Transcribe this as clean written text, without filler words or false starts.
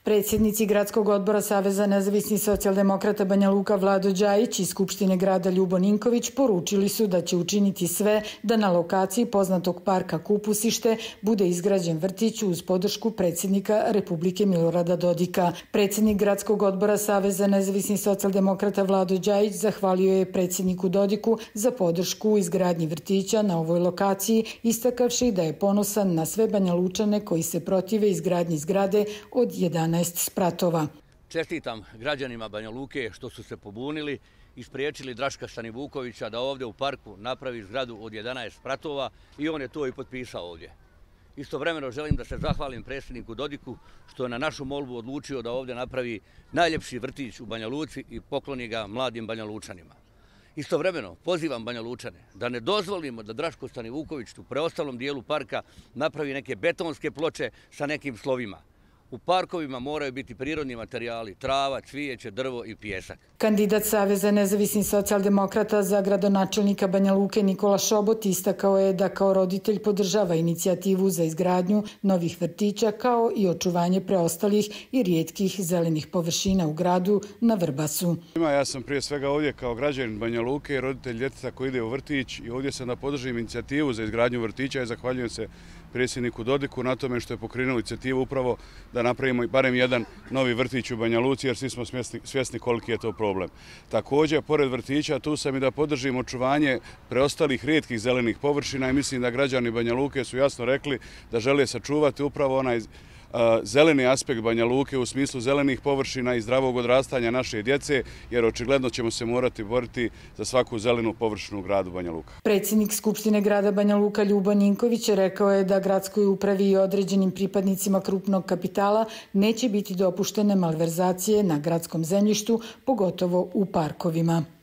Predsjednici Gradskog odbora Saveza nezavisnih socijaldemokrata Banja Luka Vlado Đajić i Skupštine grada Ljubo Ninković poručili su da će učiniti sve da na lokaciji poznatog parka Kupusište bude izgrađen vrtić uz podršku predsjednika Republike Milorada Dodika. Predsjednik Gradskog odbora Saveza nezavisnih socijaldemokrata Vlado Đajić zahvalio je predsjedniku Dodiku za podršku u izgradnji vrtića na ovoj lokaciji, istakavši da je ponosan na sve Banja Lučane koji se protive izgradnji zgrade od 11 spratova. Čestitam građanima Banja Luke što su se pobunili i spriječili Draška Stanivukovića da ovdje u parku napravi zgradu od 11 spratova i on je to i potpisao ovdje. Istovremeno želim da se zahvalim predsjedniku Dodiku što je na našu molbu odlučio da ovdje napravi najljepši vrtić u Banja Luci i pokloni ga mladim Banja Lučanima. Istovremeno pozivam Banja Lučane da ne dozvolimo da Draško Stanivuković u preostalom dijelu parka napravi neke betonske ploče sa nekim slovima. U parkovima moraju biti prirodni materijali, trava, cvijeće, drvo i pijesak. Kandidat Saveza nezavisnih socijaldemokrata za gradonačelnika Banja Luke Nikola Šobot istakao je da kao roditelj podržava inicijativu za izgradnju novih vrtića kao i očuvanje preostalih i rijetkih zelenih površina u gradu na Vrbasu. Ja sam prije svega ovdje kao građanin Banja Luke i roditelj djeteta koji ide u vrtić i ovdje sam da podržim inicijativu za izgradnju vrtića i zahvaljujem se predsjedniku Dodiku na tome što je pokrenuo inicijativu upravo da napravimo barem jedan novi vrtić u Banja Luci jer svi smo svjesni koliki je to problem. Također, pored vrtića, tu sam i da podržim očuvanje preostalih rijetkih zelenih površina i mislim da građani Banja Luke su jasno rekli da žele sačuvati upravo onaj zeleni aspekt Banja Luke u smislu zelenih površina i zdravog odrastanja naše djece, jer očigledno ćemo se morati boriti za svaku zelenu površinu u gradu Banja Luka. Predsjednik Skupštine grada Banja Luka Ljubo Ninković rekao je da gradskoj upravi i određenim pripadnicima krupnog kapitala neće biti dopuštene malverzacije na gradskom zemljištu, pogotovo u parkovima.